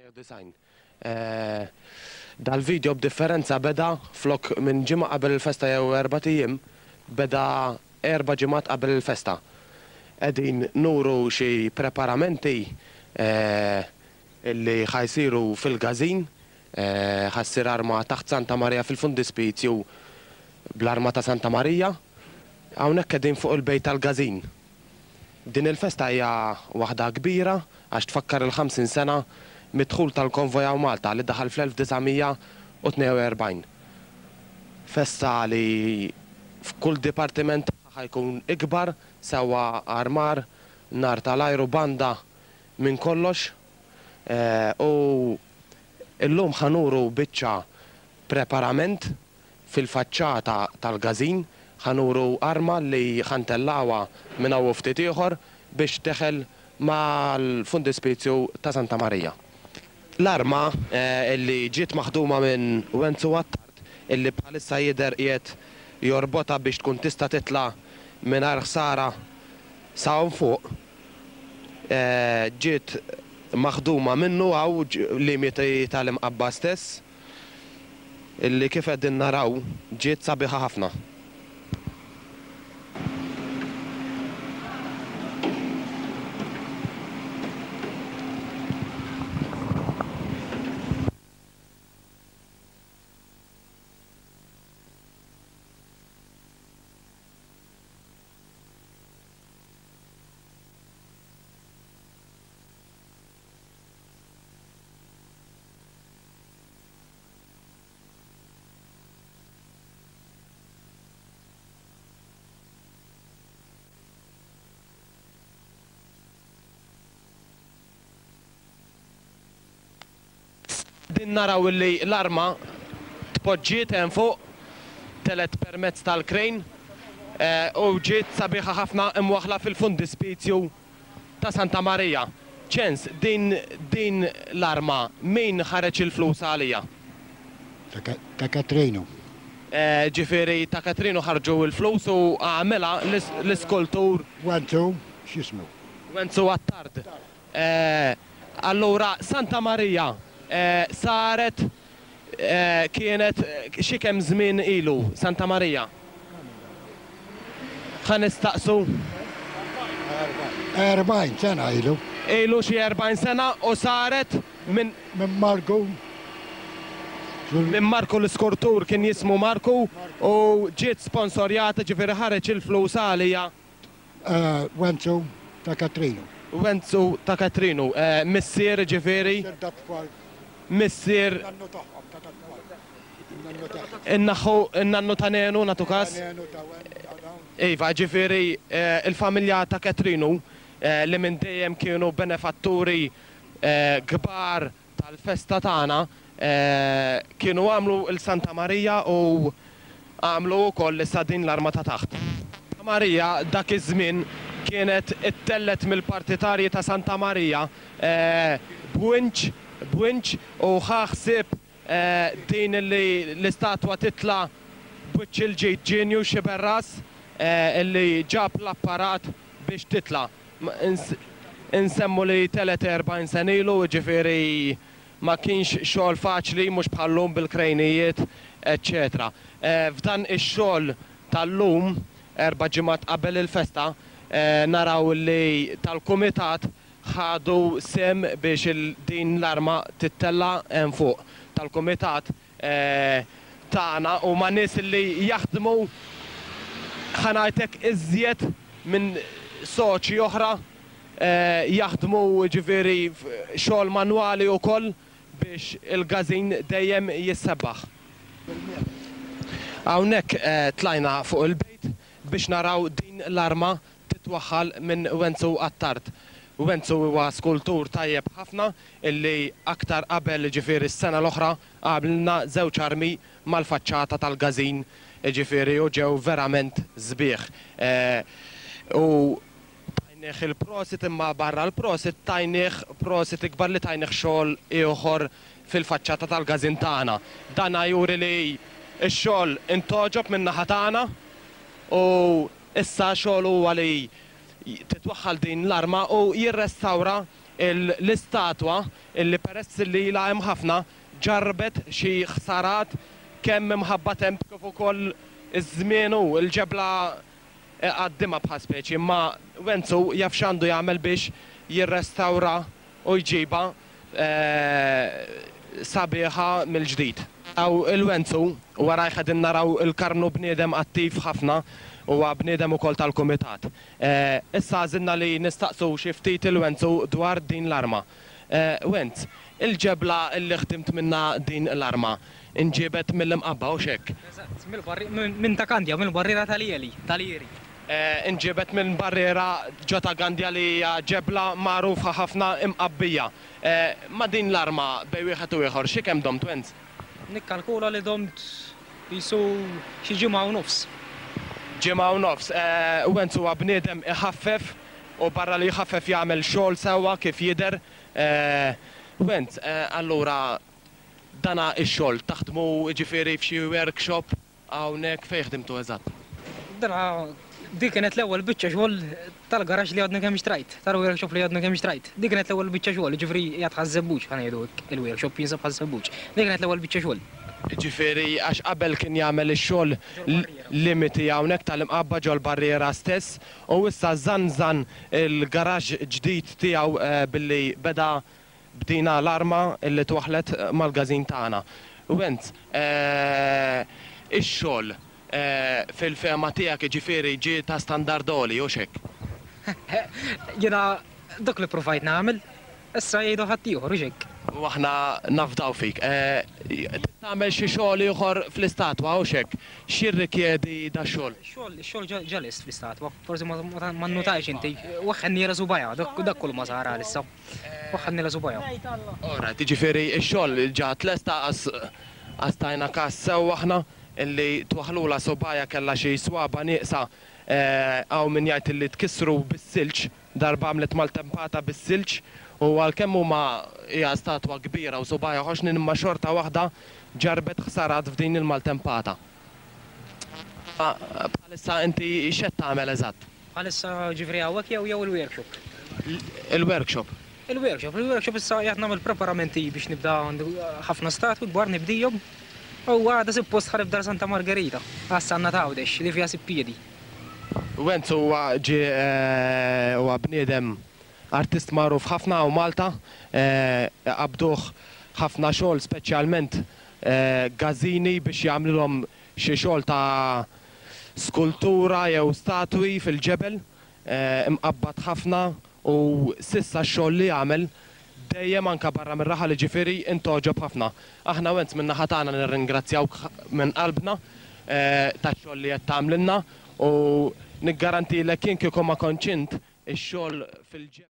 Design. Dal-video b'differenza beda flok minn ġimgħa qabel il-festa jew erbat ijiem, beda erba' ġimgħat qabel il-festa. Qegħdin nuru xi preparamenti illi ħa jsiru fil-każin. Ħa ssir arma taħt Santa Marija fil-Fundispizju bl-arma ta' Santa Marija. Hawnhekk qegħdin fuq il-bejt tal-każin. Din il-festa hija waħda kbira għax tfakkar il-50 sena mid-dħul tal-konvoj hawn Malta li daħal fl-1942. Festa li f'kull dipartiment tagħha ħa jkun ikbar, sewwa armar, nar tal-ajru, banda, minn kollox. U llum ħa nuru biċċa preparament Fil-faċċata tal-każin ħa nuru arma li ħa ntellgħuha minn hawn u ftit ieħor biex teħel mal-fundispizju ta' Santa Marija. L-arma li ġiet maħduma minn Wenzu Attard illi bħalissa jidher qiegħed jorbotha biex tkun tista' titla' mingħajr ħsara sa hawn fuq, ġiet maħduma minnu hawn limiti tal-Imqabba stess. Illi kif qegħdin naraw ġiet sabiħa ħafna. Qegħdin naraw illi l-arma tpoġġiet hemm fuq, telgħet permezz tal-crane u ġiet sabiħa ħafna imwaħħla fil-fundispizju ta' Santa Marija. Ċens, din din l-arma min ħareġ il-flus għaliha? Ta' Katrinu. Ġifieri ta' Katrinu ħarġu l-flus u għamilha l-iskultur. Wenzu, x'jismu? Wenzu Attard. Allura Santa Marija saret kienet xi kemm żmien ilu Santa Marija? Ħa nistaqsu. 40 sena ilu. Ilu xi 40 sena u saret minn. Minn Marku. Minn Marku l-iskurtur kien jismu Marku u ġiet sponsorjata ġifieri ħareġ il-flus għaliha. Wenzu ta' Katrinu. Wenzu ta' Katrinu, missier jiġifieri. Missier dat-tfal. Missier. In-nannu tagħhom ta' dat-tfal. In-nannu tagħhom. In-naħħu, in-nannu ta' Nenu nagħtu każ. Ta' Nenu, ta' Wen, ta' dawn. Iva, jiġifieri l-familja ta' Katrinu li minn dejjem kienu benefatturi kbar tal-festa tagħna kienu għamlu 'l Santa Marija u għamlu wkoll issa din l-arma ta' taħt. Santa Marija dak iż-żmien kienet ittellgħet mill-partitarji ta' Santa Marija b'winċ b'winċ u ħa ħsieb din li l-istatwa titla' b'wiċċ il-ġid Ġienju Xiberras li ġab l-apparat biex titla'. Insemmu li telgħet 40 sena ilu, jiġifieri ma kienx xogħol faċli, mhux bħal-lum bil-krejnijiet, eċċetera. F'dan ix-xogħol tal-lum, erba' ġimgħat qabel il-festa, naraw li tal-kumitat ħadu sehem biex din l-arma tittella' hemm fuq. Tal-kumitat tagħna huma nies li jaħdmu ħa ngħid hekk iżjed minn soċi oħra jaħdmu jiġifieri xogħol manwali wkoll biex il-każin dejjem jissebbaħ. Hawnhekk tlajna fuq il-bejt biex naraw din l-arma titwaħħal minn Wenzu Attard. Wenzu huwa skultur tajjeb ħafna illi aktar qabel jiġifieri s-sena l-oħra għamlilna żewġ armi mal-faċċata tal-każin jiġifieri u ġew verament sbieħ. U tajnih il-prosit imma barra l-prosit tajnih prosit ikbar li tajnih xogħol ieħor fil-faċċata tal-każin tagħna. Dan juri li x-xogħol intgħoġob min-naħa tagħna u Issa xogħlu huwa li titwaħħal din l-arma u jirrestawra. l-istatwa illi peress li ilha hemm ħafna ġarrbet xi ħsarat kemm imħabba temp kif ukoll iż-żmien u l-ġebla iqaddimha bħal speċi imma Wenzu jaf x'għandu jagħmel biex jirrestawra u jġibha sabiħa mill-ġdid. Hawn il-Wenzu, warajh qegħdin naraw il-Karmnu bniedem attiv ħafna, huwa bniedem ukoll tal-kumitat. Issa għażilna li nistaqsu xi ftit il-Wenzu dwar din l-arma. Wenz, il-ġebla li ħdimt minnha din l-arma nġiebet mill-Imqabba, hux hekk? Eżatt, minn Ta' Kandja, mill-barriera tal-Ieli, tal-Ieri. Inġiebet minn barriera ġo Ta' Gandja li hija ġebla magħrufa ħafna Imqabbija. Ma' din l-arma bejn wieħed u ieħor xi kemm domt Wenz? Nikkalkula li domt qisu xi ġimgħa u nofs. Ġimgħa u nofs. Wenz huwa bniedem iħaffef u barra li jħaffef jagħmel xogħol sewwa kif jidher. Wenz, allura dana x-xogħol taħdmu jiġifieri f'xi workshop Hawnhekk fejn ħdimtu eżatt? Dana din kienet l-ewwel biċċa xogħol tal-garaxx li għadni kemm xtrajt, tal-workshop li għadni kemm xtrajt. Din kienet l-ewwel biċċa xogħol, jiġifieri qiegħed Ħaż-Żebbuġ, ħa ngħidu hekk, il-workshop jinsab Ħaż-Żebbuġ. Din kienet l-ewwel biċċa xogħol. Jiġifieri għax qabel kien jagħmel ix-xogħol limiti hawnhekk tal-Imqabba ġol-barriera stess u issa żanżan il-garaxx ġdid tiegħu billi beda Bdina l-arma li twaħħlet mal-każin tagħna. Wenz, Ix-xogħol, fil-fehma tiegħek jiġifieri ġie ta' standard għoli, hux hekk? Jiena dak li ppruvajt nagħmel, issa jgħidu ħaddieħor, hux hekk? U aħna nafdaw fik. Trid tagħmel xi xogħol ieħor fl-istatwa, hux hekk? X'jirrikjedi dax-xogħol? Ix-xogħol, ix-xogħol ġa lest fl-istatwa. Forsi ma nnutajtx inti. Waħħelnielha subgħajha, dak kull ma sar għalissa. Waħħalni la subgħajha. All right, jiġifieri x-xogħol ġa tlesta għas tajna każ sew aħna illi twaħħlulha subgħajha kellha xi swaba' nieqsa hawn min jgħid illi tkissru bis-silġ, darba għamlet maltempata bis-silġ u għalkemm huma hija statwa kbira u subgħajha ħoxnin imma xorta waħda ġarrbet ħsarat f'din il-maltempata. Bħalissa inti x'qed tagħmel eżatt? Bħalissa ġifieri hawnhekk jew jew il-workshop? Il-workshop. Il-workshop, il-workshop issa qiegħed nagħmel preparamenti biex nibda għandi ħafna statwi kbar nibdihom u għada suppost ħa nibda Santa Margherita għas-Sanna t'Għawdex li fiha Sippiedi. Wenzu huwa ġie huwa bniedem artist magħruf ħafna hawn Malta, iqabbduh ħafna xogħol speċjalment gażini biex jagħmlilhom xi xogħol ta' skultura jew statwi fil-ġebel, imqabbad ħafna u s'issa x-xogħol li għamel dejjem anke barra mir-raħal jiġifieri intgħoġob ħafna. Aħna Wenz min-naħa tagħna nirringrazzjawk minn qalbna tax-xogħol li qed tagħmlilna u niggarantilek jien kieku ma kontx int ix-xogħol fil-ġebel.